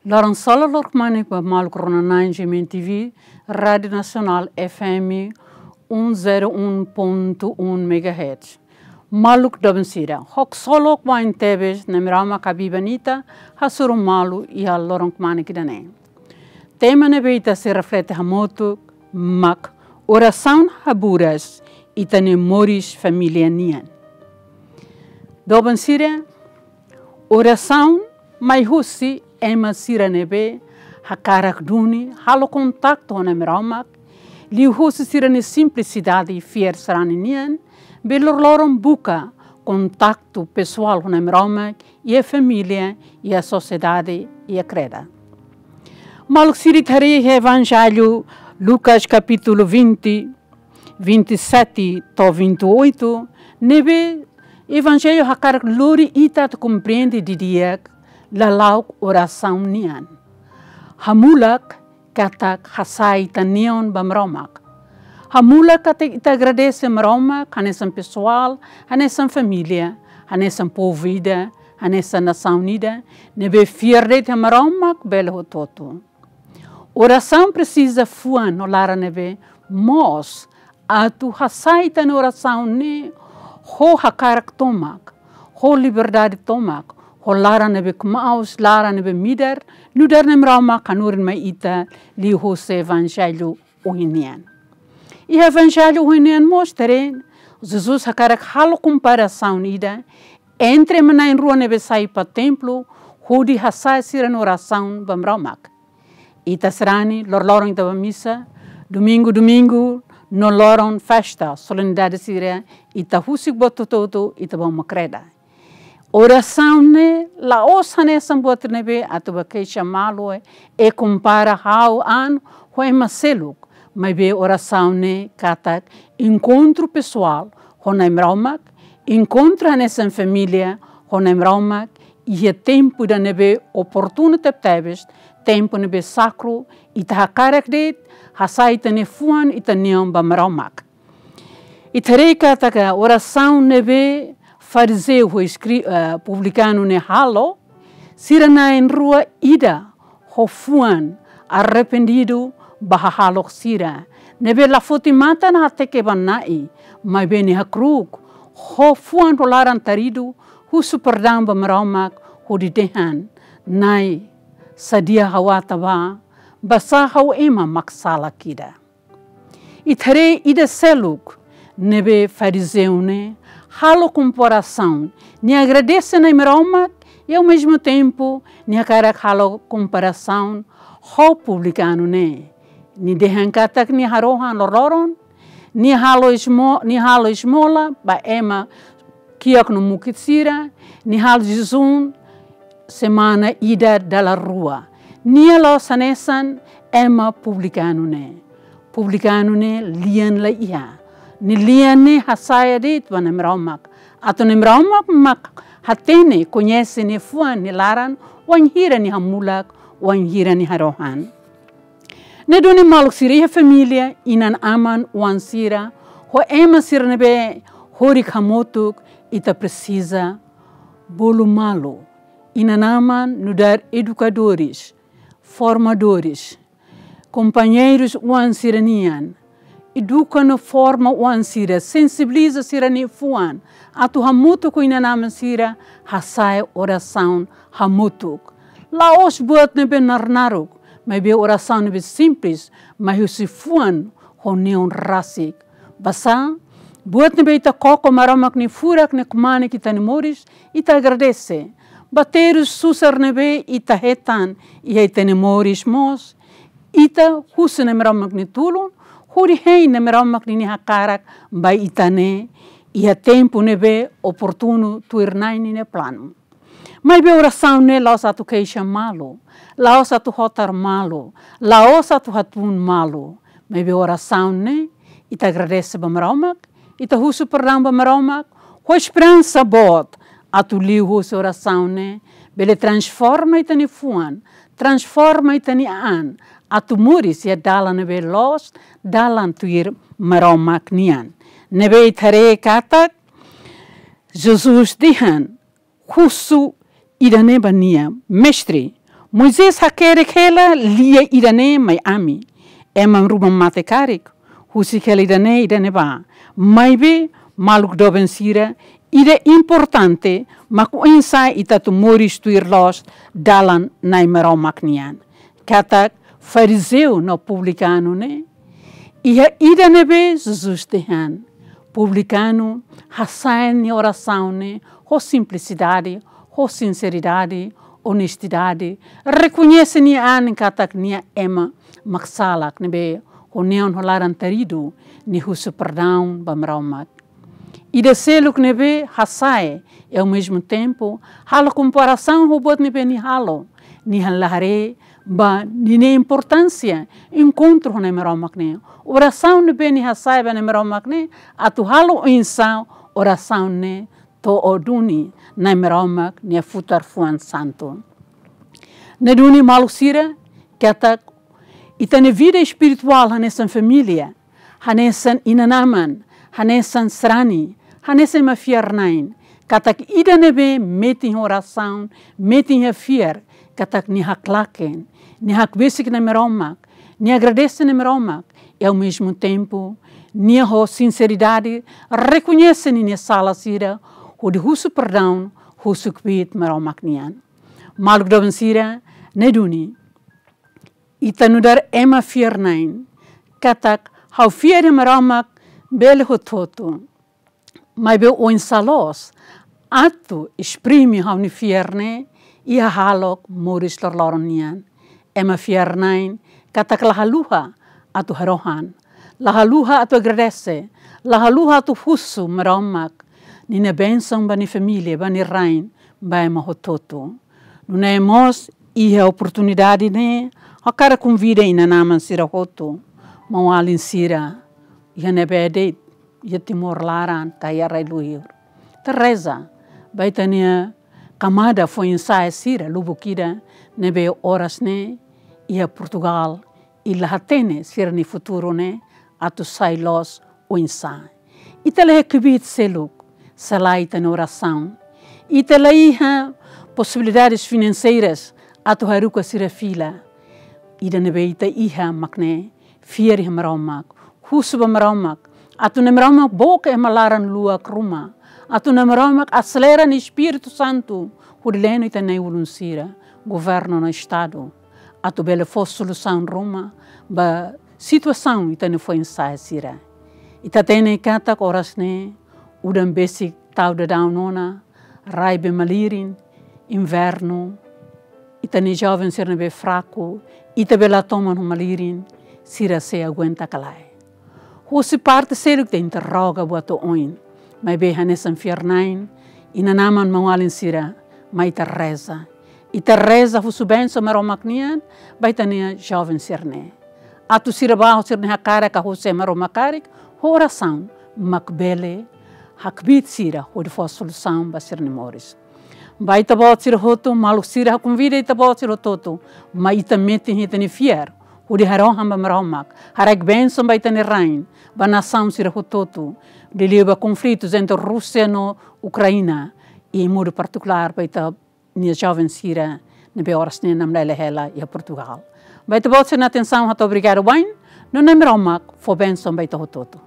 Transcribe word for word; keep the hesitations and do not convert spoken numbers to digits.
Loron solok, loron kmanek ba maluk rona na'in GMN TV, Rádiu Nasionál FM um zero um ponto um megahertz. Maluk doben sira, haksolok wa'in tebes Nai Maromak habiban ita, hasoru malu iha loron kmanek ida-ne'e. Tema ne'ebé ita sei reflete hamutuk mak orasaun haburas ita-nia moris família nian. Doben sira, orasaun mai husi ema sira ne'ebé hakarak duni halo kontaktu ho Nai Maromak, liuhusi sira-nia simplisidade fiar sarani nian, bele loroloron buka kontaktu pesoál ho Nai Maromak, iha família, iha sosiedade, iha kreda. Maluk sira, ita haree iha Evanjellu Lucas kapítulu vinte, vinte e sete to'o vinte e oito, ne'ebé Evanjellu hakarak lori ita atu komprende didi'ak lala'ok orasaun nian. Hamulak katak hasa'e ita-nia neon ba Maromak. Hamulak katak ita agradese Maromak, hanesan pesoál, hanesan família, hanesan povu ida, hanesan nasaun ida, ne'ebé fiar de'it iha Maromak bele hotu-hotu. Orasaun presiza fuan no laran ne'ebé moos atu hasa'e ita-nia orasaun ne'e ho hakarak tomak, ho liberdade tomak, ho laran ne'ebé kmaus, laran ne'ebé midar, nu'udar Nai Maromak hanorin mai ita liuhusi Evanjellu ohin nian. Iha Evanjellu ohin nian mós ita haree, Jesus hakarak halo komparasaun ida entre ema na'in rua ne'ebé sai ba templu, hodi hasa'e sira-nia orasaun ba Maromak. Ita sarani, loroloron ita bá misa, domingu, domingu, no loron festa, solenidade sira, ita husik buat hotu-hotu, ita bá uma kreda. Orasaun ne'e la'ós hanesan buat ne'ebé atu bá keixa malu, e kompara ha'u-an ho ema seluk, maibé orasaun ne'e katak enkontru pesoál ho Nai Maromak, enkontru hanesan família ho Nai Maromak, iha tempu ida ne'ebé oportunu tebetebes, tempu ne'ebé sakru, ita hakarak de'it hasa'e ita-nia fuan, ita-nia neon ba Maromak. Ita haree katak orasaun ne'ebé farizeu ho eskri-, eh, publikanu ne'e halo, sira na'in rua ida ho fuan arrependidu ba hahalok sira, ne'ebé la foti matan hateke ba Na'i, maibé nia hakru'uk, ho fuan ho laran taridu, husu perdaun ba Maromak, hodi dehan: Na'i, sadia ha'u ata bá, basá ha'u ema mak sala ida. Ita haree ida seluk, ne'ebé farizeu ne'e halo komparasaun, nia agradese Nai Maromak, i ao mesmo tempo, nia hakarak halo komparasaun ho publikanu ne'e. Nia dehan katak nia harohan loroloron, nia halo esmo-, nia halo esmola ba ema kiak no mukit sira, nia halo jejún semana ida dala rua. Nia la'ós hanesan ema publikanu ne'e. Publikanu ne'e lian la iha. Nia lian ne'e hasa'e de'it ba Nai Maromak. Atu Nai Maromak mak hatene, koñese nia fuan, nia laran, wainhira nia hamulak, wainhira nia harohan. Ne'e duni maluk sira, iha família, inan-aman, oan sira, ho ema sira ne'ebé horik hamutuk, ita presiza bolu malu. Inan-aman nu'udar edukadores, formadores, kompañeirus oan sira nian, eduka no forma oan sira, sensibiliza sira-nia fuan, atu hamutuk ho inan-aman sira, hasa'e orasaun hamutuk. La'ós buat ne'ebé naruk-naruk, maibé orasaun ne'ebé simples, mai husi fuan ho neon rasik. Basá, buat ne'ebé ita koko Maromak nia furak, nia kmanek iha ita-nia moris, ita agradese. Ba terus susar ne'ebé ita hetan iha ita-nia moris mós, ita husu Nai Maromak nia tulun, hodi hein Nai Maromak ninia hakarak ba ita ne'e, iha tempu ne'ebé oportunu tuir Na'i ninia planu. Maibé orasaun ne'e la'ós atu keixa malu, la'ós atu hotar malu, la'ós atu hatún malu. Maibé orasaun ne'e, ita agradese ba Maromak, ita husu perdaun ba Maromak, ho esperansa boot, atu liuhusi orasaun ne'e, bele transforma ita-nia fuan, transforma ita-nia an, atu moris iha dalan ne'ebé loos, dalan tuir Maromak nian. Ne'ebé ita haree katak, Jesus dehan, husu ida-ne'e ba nia: Mestre, Moisés hakerek hela lia ida-ne'e mai ami, ema ruma mate karik, husik hela ida-ne'e, ida-ne'ebá. Maibé, maluk doben sira, ida importante mak oinsá ita atu moris tuir loos dalan Na'i Maromak nian. Katak farizeu no publikanu ne'e, iha ida ne'ebé Jesus dehan. Publikanu hasa'e nia orasaun ne'e ho simplisidade, ho sinseridade, onestidade, rekoñese nia an katak nia ema mak salak ne'ebé ho neon ho laran taridu, nia husu perdaun ba Maromak. Ida seluk ne'ebé hasa'e, e ao mesmo tempo, halo komparasaun ho buat ne'ebé nia halo, nia la haree ba ninia importánsia enkontru ho Na'i Maromak ne'e. Orasaun ne'ebé nia hasa'e ba Na'i Maromak ne'e, atu halo oinsá orasaun ne'e to'o duni Na'i Maromak nia futar fuan santu. Ne'e duni maluk sira, katak ita-nia vida espirituál hanesan família, hanesan inan-aman, hanesan sarani, hanesan ema fiar-na'in, katak ida ne'ebé metin orasaun, metin fiar, katak nia haklaken, nia hakbesik Na'i Maromak, nia agradese Na'i Maromak, e ao mesmo tempo, nia ho sinseridade, rekoñese ninia sala sira, hodi husu perdaun, husu kbiit Maromak nian. Maluk doben sira, ne'e duni. Ita nu'udar ema fiar-na'in, katak ha'u fiar iha Maromak bele hotu-hotu. Maibé oinsá loos atu esprime ha'u-nia fiar ne'e iha hahalok moris loroloron nian. Ema fiar-na'in katak la haluha atu harohan, la haluha atu agradese, la haluha atu husu Maromak ninia bensaun ba nia família, ba nia rain, ba ema hotu-hotu. Nune'e mós iha oportunidade ne'e, ha'u hakarak konvida inan-aman sira hotu, maun-alin sira, iha ne'ebé de'it, iha Timor laran, ka iha rai-luhur. Ita reza ba ita-nia kamada foin-sa'e sira lubuk ida ne'ebé oras ne'e iha Portugal, i la hatene sira-nia futuru ne'e atu sai loos oinsá. Ita la iha kbiit seluk, se lae ita-nia orasaun. Ita la iha posibilidades finanseiras atu haruka sira fila. Ida ne'ebé ita iha mak ne'e, fiar iha Maromak, husu ba Maromak, atu Na'i Maromak book ema laran-luak ruma, atu Na'i Maromak aselera nia Espíritu Santu, hodi leno ita-nia ulun sira, governu no Estadu, atu bele fó solusaun ruma ba situasaun ita-nia foin-sa'e sira. Ita hatene katak oras ne'e, udan besik tau daudaun ona, rai bee malirin, invernu, ita-nia joven sira ne'ebé fraku, ita bee la toman ho malirin, sira sei aguenta ka lae. Husi parte seluk ita interroga buat oioin, maibé hanesan fiar-na'in, inan-aman maun-alin sira, mai ita reza. Ita reza husu bensaun Maromak nian ba ita-nia joven sira-ne'e. Atu sira bá ho sira-nia hakarak ka husi Maromak karik, ho orasaun mak bele hakbiit sira hodi fó solusaun ba sira-nia moris. Ba ita-boot sira hotu, maluk sira, ha'u konvida ita-boot sira hotu-hotu, mai ita metin ita-nia fiar hodi harohan ba Maromak, haraik bensaun ba ita-nia rain, ba nasaun sira hotu-hotu, liuliu ba konflitus entre Rúsia no Ukraina, i modo partikulár ba ita-nia joven sira ne'ebé oras ne'e namlele hela iha Portugal. Ba ita-boot sira-nia atensaun hato'o obrigadu wa'in, no Na'i Maromak fó bensaun ba ita hotu-hotu.